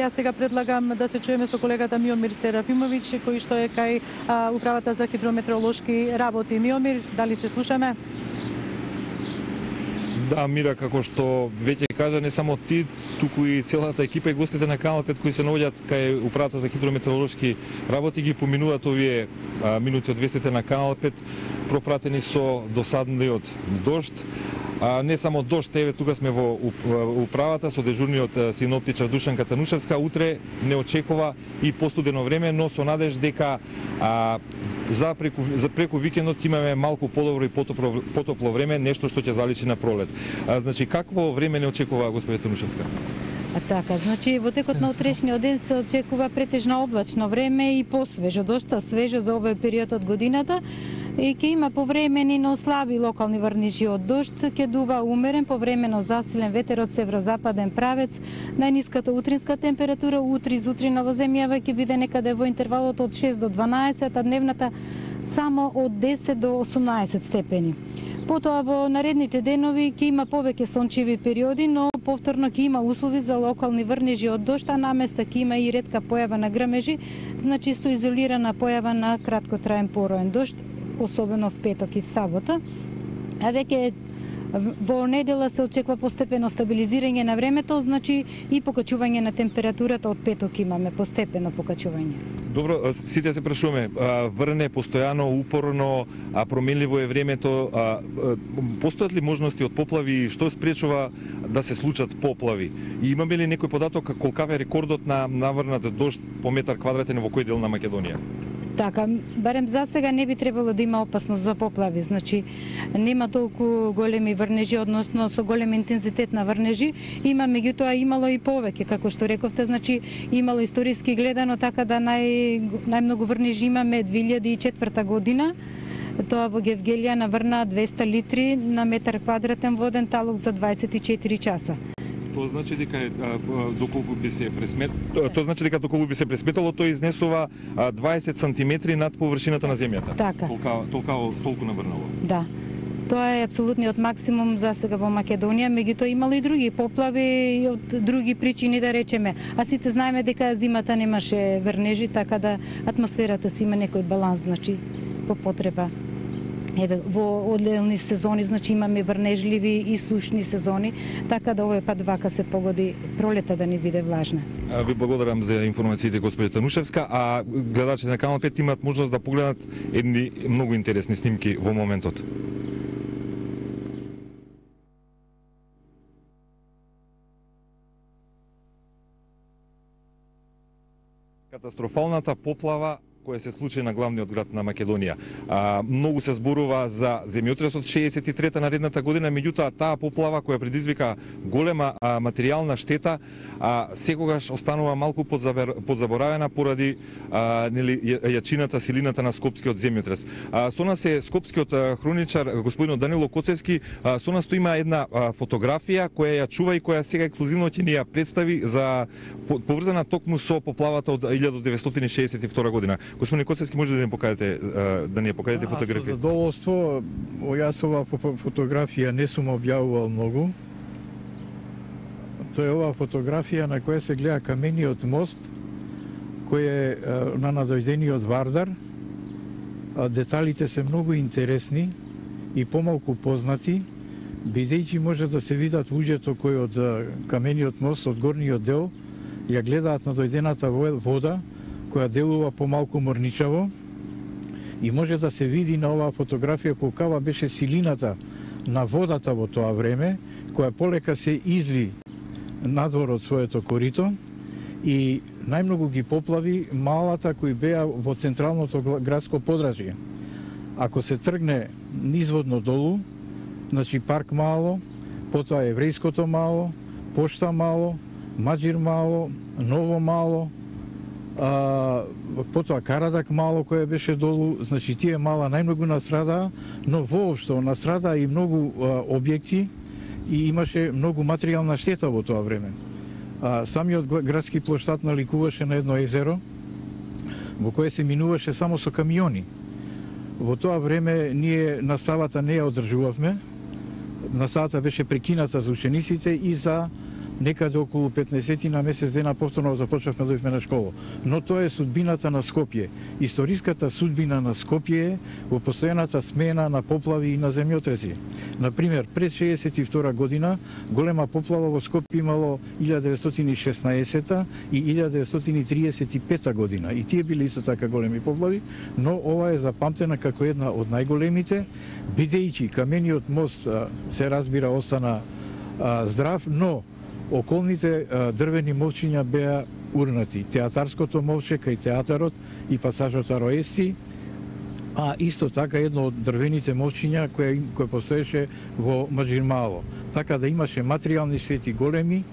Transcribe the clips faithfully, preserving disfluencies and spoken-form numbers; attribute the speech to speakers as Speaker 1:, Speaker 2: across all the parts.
Speaker 1: Јас сега предлагам да се чуеме со колегата Миомир Серафимовиќ, кој што е кај а, управата за хидрометеоролошки работи. Миомир, дали се слушаме?
Speaker 2: Да, Мира, како што веќе кажа, не само ти, туку и целата екипа и гостите на Канал пет кои се наоѓаат кај управата за хидрометеоролошки работи ги поминуваат овие а, минути од вестите на Канал пет, пропратени со досадниот дожд. А, не само дожд, еве тука сме во управата со дежурниот синоптичар Душанка Танушевска. Утре не очекува и постудено време, но со надеж дека а, за преку за преку викендот имаме малку подобро и потопло, потопло време, нешто што ќе заличи на пролет. А, значи какво време не очекува господи Танушевска?
Speaker 3: А така, значи во текот на утрешниот ден се очекува претежно облачно време и посвежо, дошта свежо за овој период од годината. И ќе има повремени, но слаби локални врнежи од дожд, ќе дува умерен, повремено засилен ветер од северозападен правец. Најниската утринска температура утре изутрина во земјава ќе биде некаде во интервалот од шест до дванаесет, а дневната само од десет до осумнаесет степени. Потоа во наредните денови ќе има повеќе сончеви периоди, но повторно ќе има услови за локални врнежи од дожд, а наместа ќе има и ретка појава на грмежи, значи со изолирана појава на краткотраен пороен дожд, особено в петок и в сабота. А веќе во недела се очекува постепено стабилизирање на времето, значи и покачување на температурата од петок имаме постепено покачување.
Speaker 2: Добро, сите се прашуваме, врне постојано, упорно, а променливо е времето, а, постојат ли можности од поплави, што спречува да се случат поплави? И имаме ли некој податок колкав е рекордот на наврнат дожд по метар квадратен во кој дел на Македонија?
Speaker 3: Така, барем за сега не би требало да има опасност за поплави, значи нема толку големи врнежи, односно со голем интензитет на врнежи, има меѓутоа имало и повеќе, како што рековте, значи имало историски гледано, така да нај, најмногу врнежи имаме две илјади и четврта година, тоа во Гевгелија наврна двеста литри на метар квадратен воден талок за дваесет и четири часа.
Speaker 2: Тоа значи дека доколку би се пресмет, тоа значи дека доколку би се пресметало, тој изнесува дваесет сантиметри над површината на земјата.
Speaker 3: Така.
Speaker 2: Толка, толка, толку наврнало.
Speaker 3: Да. Тоа е апсолутниот максимум за сега во Македонија, меѓутоа имало и други поплави од други причини, да речеме. А сите знаеме дека зимата немаше врнежи, така да атмосферата си има некој баланс, значи по потреба. Еве, во одделни сезони, значи имаме врнежливи и сушни сезони, така да овој пат вака се погоди пролета да ни биде влажна.
Speaker 2: Ви благодарам за информациите, господи Танушевска, а гледачите на Канал пет имаат можност да погледнат едни многу интересни снимки во моментот. Катастрофалната поплава која се случи на главниот град на Македонија. А, многу се зборува за земјотресот шеесет и трета наредната година, меѓутоа таа поплава која предизвика голема а, материјална штета, а, секогаш останува малку подзаборавена поради а, нели, јачината, силината на скопскиот земјотрес. А, со нас е скопскиот а, хроничар господин Данило Коцевски. А, со нас има една а, фотографија која ја чува и која сега ексклузивно ќе ни ја представи за поврзана токму со поплавата од илјада деветстотини шеесет и втора година. Господин Коцевски, може да ни покажете да ни ја покажете фотографија?
Speaker 4: Со задоволство, јас ова фотографија не сум објавувал многу. Тоа е ова фотографија на која се гледа камениот мост кој е на надојдениот Вардар. Деталите се многу интересни и помалку познати, бидејќи може да се видат луѓето кои од камениот мост, од горниот дел, ја гледаат надојдената вода, која делува помалку морничаво, и може да се види на оваа фотографија колкава беше силината на водата во тоа време, која полека се изли надвор од своето корито, и најмногу ги поплави малата кои беа во централното градско подрачје. Ако се тргне низводно долу, значи Парк мало, потоа Еврејското мало, Пошта мало, Маџир мало, Ново мало, а, потоа Карадак мало која беше долу, значи тие мала најмногу настрада, но воопшто настрада и многу а, објекти и имаше многу материјална штета во тоа време. А, самиот градски плоштад наликуваше на едно езеро во кое се минуваше само со камиони. Во тоа време ние наставата не ја одржувавме. Наставата беше прекината за учениците и за некаде околу петнаесет на месец дена повторно започнавме да дојдовме на школа. Но тоа е судбината на Скопје. Историската судбина на Скопје е во постојаната смена на поплави и на земјотреси. Например, пред шеесет и втора година голема поплава во Скопје имало илјада деветстотини и шеснаесета и илјада деветстотини и триесет и пета година. И тие биле исто така големи поплави, но ова е запамтена како една од најголемите, бидејќи камениот мост се разбира остана а, здрав, но околните а, дрвени мовчиња беа урнати. Театарското мовче кај театарот и пасажот Ароести, а исто така едно од дрвените мовчиња кој кој постоеше во Маџирмало. Така да имаше материјални штети големи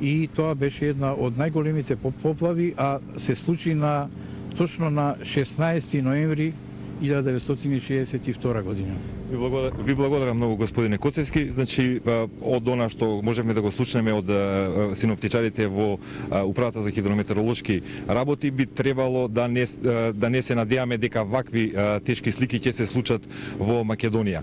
Speaker 4: и тоа беше една од најголемите поплави, а се случи на точно на шеснаесети ноември илјада деветстотини и шеесет и втора година.
Speaker 2: Ви благодарам, ви благодарам многу, господине Коцевски. Значи, од она што можевме да го слушнеме од синоптичарите во Управата за хидрометеоролошки работи, би требало да не, да не се надеваме дека вакви тешки слики ќе се случат во Македонија.